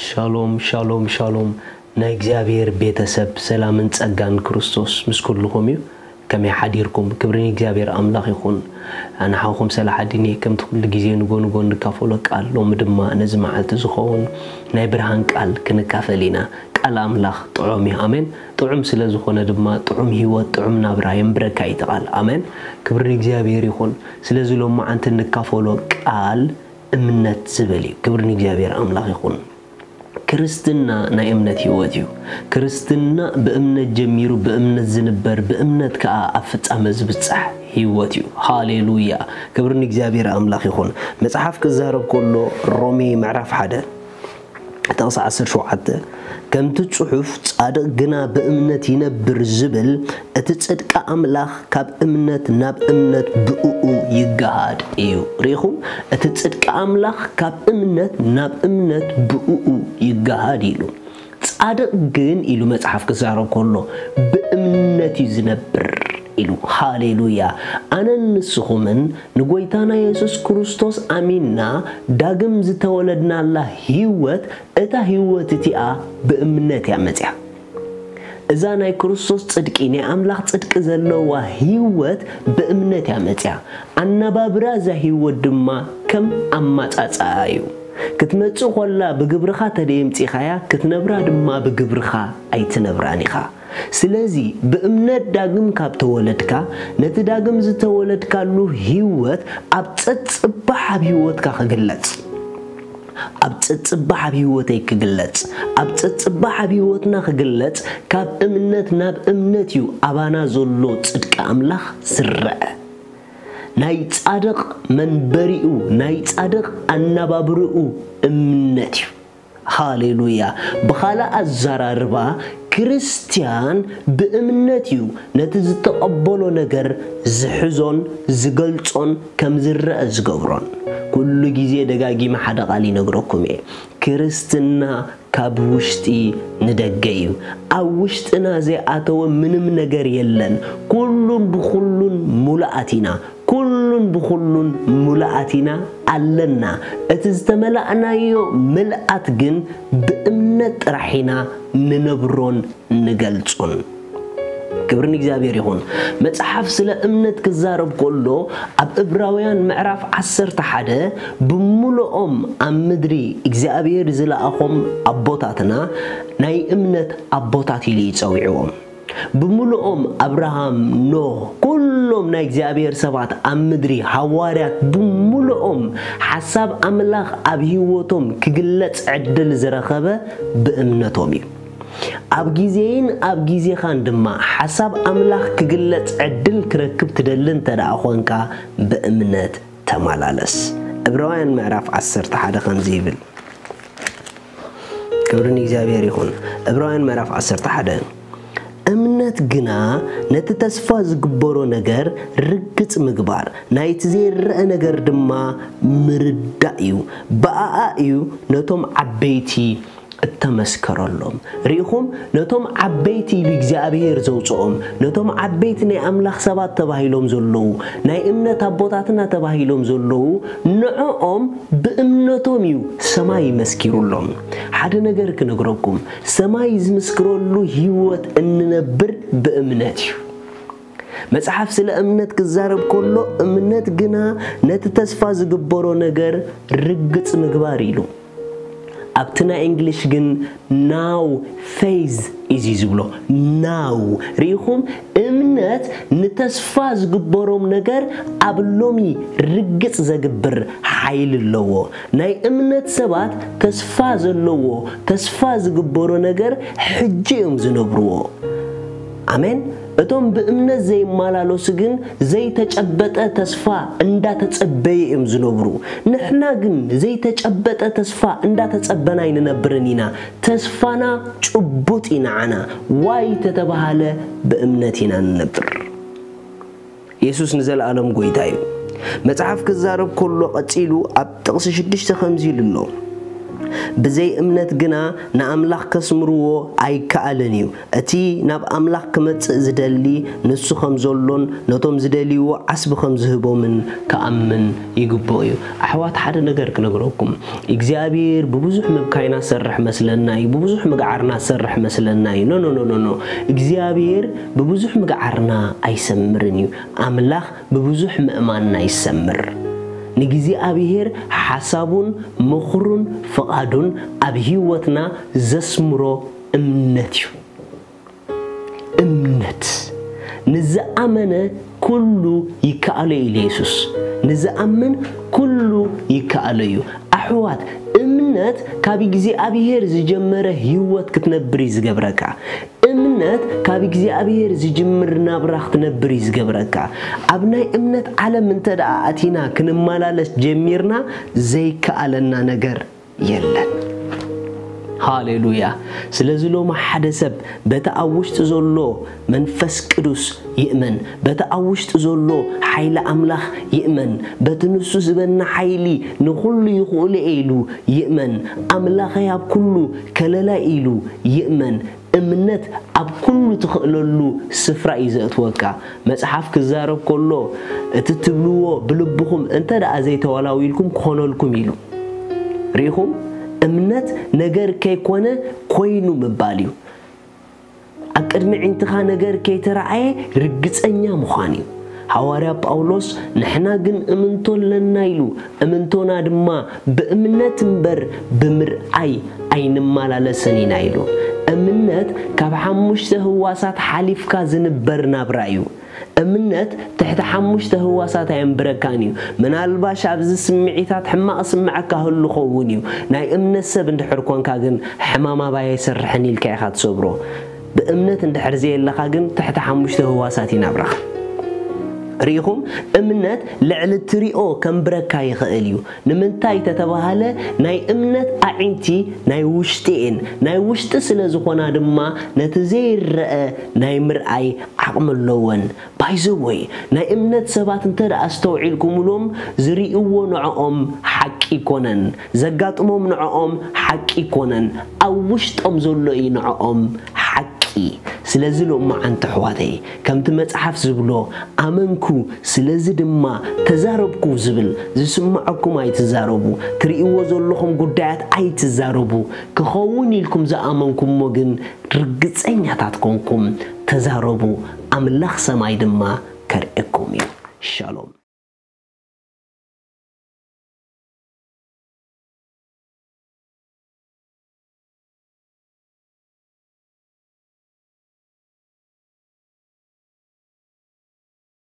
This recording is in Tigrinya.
ሻሎም ሻሎም ሻሎም፣ ናይ እግዚኣብሔር ቤተሰብ፣ ሰላምን ጸጋን ክርስቶስ ምስ ኩልኹም እዩ። ከመይ ሓዲርኩም? ክብሪ ንእግዚኣብሔር ኣምላኽ ይኹን። ኣንሓኹም ሰላሓዲን እየ። ከምቲ ኩሉ ግዜ ንጎ ንጎ እንካፈሎ ቃል፣ ሎሚ ድማ ነዚ መዓልቲ ዝኸውን ናይ ብርሃን ቃል ክንካፈል ኢና። ቃል ኣምላኽ ጥዑም እዩ። ኣሜን። ጥዑም ስለ ዝኾነ ድማ ጥዑም ህይወት፣ ጥዑም ናብራ የንብረካ እዩ እቲ ቃል። ኣሜን። ክብሪ ንእግዚኣብሔር ይኹን። ስለዚ ሎማዓንቲ እንካፈሎ ቃል እምነት ዝብል እዩ። ክብሪ ንእግዚኣብሔር ኣምላኽ ይኹን። ክርስትና ናይ እምነት ህይወት እዩ። ክርስትና ብእምነት ጀሚሩ፣ ብእምነት ዝንበር፣ ብእምነት ከኣ ኣብ ፍጻመ ዝብጻሕ ህይወት እዩ። ሃሌሉያ! ክብሪ ንእግዚኣብሔር ኣምላኽ ይኹን። መጽሓፍ ክዛረብ ከሎ፣ ሮሜ ምዕራፍ ሓደ ጥቕሲ ዓሰርተ ሸውዓተ፣ ከምቲ ጽሑፍ፣ "ጻድቕ ግና ብእምነት ይነብር" ዝብል፣ እቲ ጽድቂ ኣምላኽ ካብ እምነት ናብ እምነት ብእኡ ይገሃድ እዩ። ርኢኹም? እቲ ጽድቂ ኣምላኽ ካብ እምነት ናብ እምነት ብእኡ ይገሃድ ኢሉ። "ጻድቕ ግን" ኢሉ መጽሓፍ ክዛረብ ከሎ፣ "ብእምነት እዩ ዝነብር" ኢሉ። ሃሌሉያ! ኣነን ንስኹምን ንጎይታና የሱስ ክርስቶስ ኣሚንና ዳግም ዝተወለድናላ ህይወት፣ እታ ህይወት እቲኣ ብእምነት እያ መጽያ። እዛ ናይ ክርስቶስ ጽድቂ፣ ናይ ኣምላኽ ጽድቂ ዘለዋ ህይወት ብእምነት እያ መጽያ። ኣነባብራ እዛ ህይወት ድማ ከም ኣማጻጽኣ እዩ። ክትመጽእ ኮላ ብግብርኻ ተደየምጺኻያ፣ ክትነብራ ድማ ብግብርኻ ኣይትነብራን ኢኻ። ስለዚ ብእምነት ዳግም ካብ ተወለድካ፣ ነቲ ዳግም ዝተወለድካሉ ህይወት ኣብ ጸጽባሕ ኣብ ህይወትካ ክግለጽ፣ ኣብ ጸጽባሕ ኣብ ህይወተይ ክግለጽ፣ ኣብ ጸጽባሕ ኣብ ህይወትና ክግለጽ፣ ካብ እምነት ናብ እምነት እዩ ኣባና ዘሎ ጽድቂ ኣምላኽ ዝረአ። ናይ ጻድቕ መንበሪኡ፣ ናይ ጻድቕ ኣነባብርኡ እምነት እዩ። ሃሌሉያ! ብኻልእ ኣዘራርባ፣ ክርስትያን ብእምነት እዩ ነቲ ዝተቐበሎ ነገር ዝሕዞን ዝገልጾን ከም ዝረአ ዝገብሮን። ኩሉ ግዜ ደጋጊመ ሓደ ቃል ይነግረኩም እየ። ክርስትና ካብ ውሽጢ ንደገ እዩ። ኣብ ውሽጥና ዘይኣተወ ምንም ነገር የለን። ኩሉን ብኹሉን ሙሉኣት ኢና። ኩሉን ብኹሉን ሙሉኣት ኢና ኣለና። እቲ ዝተመላእናዮ ምልኣት ግን ብእምነት ጥራሕ ኢና ንነብሮን ንገልጾን። ክብሪ ንእግዚኣብሔር ይኹን። መጽሓፍ ስለ እምነት ክዛረብ ከሎ፣ ኣብ ዕብራውያን ምዕራፍ ዓሰርተ ሓደ፣ "ብምሉኦም ኣብ ምድሪ እግዚኣብሔር ዝለኣኾም ኣቦታትና ናይ እምነት ኣቦታት" ኢሉ እዩ ጸዊዕዎም። ብምሉኦም፣ ኣብርሃም፣ ኖህ፣ ኩሎም ናይ እግዚኣብሔር ሰባት ኣብ ምድሪ፣ ሃዋርያት ብምሉኦም፣ ሓሳብ ኣምላኽ ኣብ ህይወቶም ክግለጽ ዕድል ዝረኸበ ብእምነቶም እዩ። ኣብ ግዜይን ኣብ ግዜኻን ድማ ሓሳብ ኣምላኽ ክግለጽ ዕድል ክረክብ ትደሊ እንተ ደኣ ኾንካ፣ ብእምነት ተመላለስ። ዕብራውያን ምዕራፍ ዓሰርተ ሓደ ከምዚ ይብል። ክብሪ ንእግዚኣብሔር ይኹን። ዕብራውያን ምዕራፍ ዓሰርተ ሓደ፣ "እምነት ግና ነቲ ተስፋ ዝግበሮ ነገር ርግጽ ምግባር፣ ናይቲ ዘይረኣ ነገር ድማ ምርዳእ እዩ። ብኣኣ እዩ ነቶም ዓበይቲ እተመስከረሎም።" ርኢኹም? ነቶም ዓበይቲ ኢሉ እግዚኣብሔር ዘውፅኦም፣ ነቶም ዓበይቲ ናይ ኣምላኽ ሰባት ተባሂሎም ዘለዉ፣ ናይ እምነት ኣቦታትና ተባሂሎም ዘለዉ፣ ንዕኦም ብእምነቶም እዩ ሰማይ መስኪሩሎም። ሓደ ነገር ክነግረኩም፣ ሰማይ ዝምስክረሉ ህይወት እንነብር ብእምነት እዩ። መጽሓፍ ስለ እምነት ክዛረብ ከሎ፣ "እምነት ግና ነቲ ተስፋ ዝግበሮ ነገር ርግጽ ምግባር" ኢሉ። ኣብቲ ናይ እንግሊሽ ግን፣ "Now faith is" እዩ ዝብሎ። ናው። ርኢኹም? እምነት ንተስፋ ዝግበሮም ነገር ኣብ ሎሚ ርግጽ ዘግብር ሓይሊ ኣለዎ። ናይ እምነት ሰባት ተስፋ ዘለዎ፣ ተስፋ ዝግበሮ ነገር ሕጂ እዮም ዝነብርዎ። ኣሜን። እቶም ብእምነት ዘይመላለሱ ግን ዘይተጨበጠ ተስፋ እንዳተጸበዩ እዮም ዝነብሩ። ንሕና ግን ዘይተጨበጠ ተስፋ እንዳተጸበና ኣይንነብርን ኢና። ተስፋና ጭቡጥ እዩ ንዓና። ዋይ ተተባሃለ ብእምነት ኢና ንነብር። የሱስ ንዘለኣለም ጎይታ እዩ። መጽሓፍ ክዛረብ ከሎ ቀጺሉ ኣብ ጥቕሲ ሽዱሽተ ከምዚ ኢሉ ኣሎ። ብዘይ እምነት ግና ንኣምላኽ ከስምርዎ ኣይከኣልን እዩ። እቲ ናብ ኣምላኽ ክመጽእ ዝደሊ ንሱ ከም ዘሎን ነቶም ዝደልይዎ ዓስቢ ከም ዝህቦምን ክኣምን ይግብኦ እዩ። ኣሕዋት፣ ሓደ ነገር ክነግረኩም። እግዚኣብሔር ብብዙሕ ምብካይና ዝሰርሕ መስለና እዩ፣ ብብዙሕ ምግዓርና ዝሰርሕ መስለና እዩ። ኖ፣ ኖ፣ ኖ፣ ኖ፣ ኖ። እግዚኣብሔር ብብዙሕ ምግዓርና ኣይሰምርን እዩ። ኣምላኽ ብብዙሕ ምእማንና ይሰምር። ንእግዚኣብሔር ሓሳቡን ምኽሩን ፍቓዱን ኣብ ህይወትና ዘስምሮ እምነት እዩ። እምነት። ንዝኣመነ ኩሉ ይከኣሎ ኢሉ የሱስ። ንዝኣምን ኩሉ ይከኣሎ እዩ። ኣሕዋት፣ እምነት ካብ እግዚኣብሔር ዝጀመረ ህይወት ክትነብር እዩ ዝገብረካ። እምነት ካብ እግዚኣብሔር ዝጅምር ናብራ ክትነብር እዩ ዝገብረካ። ኣብ ናይ እምነት ዓለም እንተ ደኣ ኣቲና ክንመላለስ ጀሚርና ዘይከኣለና ነገር የለን። ሃሌሉያ። ስለዚ ሎሚ ሓደ ሰብ በቲ ኣብ ውሽጢ ዘሎ መንፈስ ቅዱስ ይእመን፣ በቲ ኣብ ውሽጢ ዘሎ ሓይሊ ኣምላኽ ይእመን፣ በቲ ንሱ ዝበና ሓይሊ ንኹሉ ይኽእሉ እየ ኢሉ ይእመን፣ ኣምላኸይ ኣብ ኩሉ ከለላይ ኢሉ ይእመን። እምነት ኣብ ኩሉ ትኽእለሉ ስፍራ እዩ ዘእትወካ። መጽሓፍ ክዛረብ ከሎ፣ እቲ ትብልዎ ብልብኹም እንተ ደኣ ዘይተዋላዊልኩም ክኾነልኩም ኢሉ። ርኢኹም? እምነት ነገር ከይኮነ ኮይኑ ምባል እዩ። ኣብ ቅድሚ ዒንትኻ ነገር ከይተረኣየ ርግጸኛ ምዃን እዩ። ሃዋርያ ጳውሎስ፣ "ንሕና ግን እምንቶ ኣለና" ኢሉ፣ "እምንቶና ድማ ብእምነት እምበር ብምርኣይ ኣይንመላለስን ኢና" ኢሉ። እምነት ካብ ሓሙሽተ ህዋሳት ሓሊፍካ ዝንበር ናብራ እዩ። እምነት ትሕቲ ሓሙሽተ ህዋሳት ኣየንብረካን እዩ። ምናልባሽ ኣብዚ ስምዒታት ሕማቕ ስምዐካ ህሉ ኸውን እዩ። ናይ እምነት ሰብ እንድሕር ኮንካ ግን ሕማም ኣባይ ኣይሰርሕን ኢልካ ኢኻ ትሰብሮ። ብእምነት እንድሕር ዘየለኻ ግን ትሕቲ ሓሙሽተ ህዋሳት እዩ ናብራኻ። ርኢኹም? እምነት ልዕሊ ትሪኦ ከንብረካ ይኽእል እዩ። ንምንታይ ተተባሃለ፣ ናይ እምነት ኣዒንቲ ናይ ውሽጢ እየን። ናይ ውሽጢ ስለ ዝኾና ድማ ነቲ ዘይረአ ናይ ምርኣይ ዓቕሚ ኣለወን። ባይዘወይ፣ ናይ እምነት ሰባት እንተ ደኣ ኣስተውዒልኩምሎም፣ ዝርእይዎ ንዕኦም ሓቂ ይኮነን፣ ዘጋጥሞም ንዕኦም ሓቂ ይኮነን፣ ኣብ ውሽጦም ዘሎ እዩ ንዕኦም ሓቂ። ስለዚ ሎማዓንቲ ኣሕዋተይ፣ ከምቲ መጽሓፍ ዝብሎ፣ "ኣመንኩ፣ ስለዚ ድማ ተዛረብኩ" ዝብል፣ ዝስምዐኩም ኣይትዛረቡ፣ ትርእይዎ ዘለኹም ጉዳያት ኣይትዛረቡ። ክኸውን ኢልኩም ዝኣመንኩሞ ግን ርግጸኛታት ኮንኩም ተዛረቡ፣ ኣምላኽ ሰማይ ድማ ከርእየኩም እዩ። ሻሎም።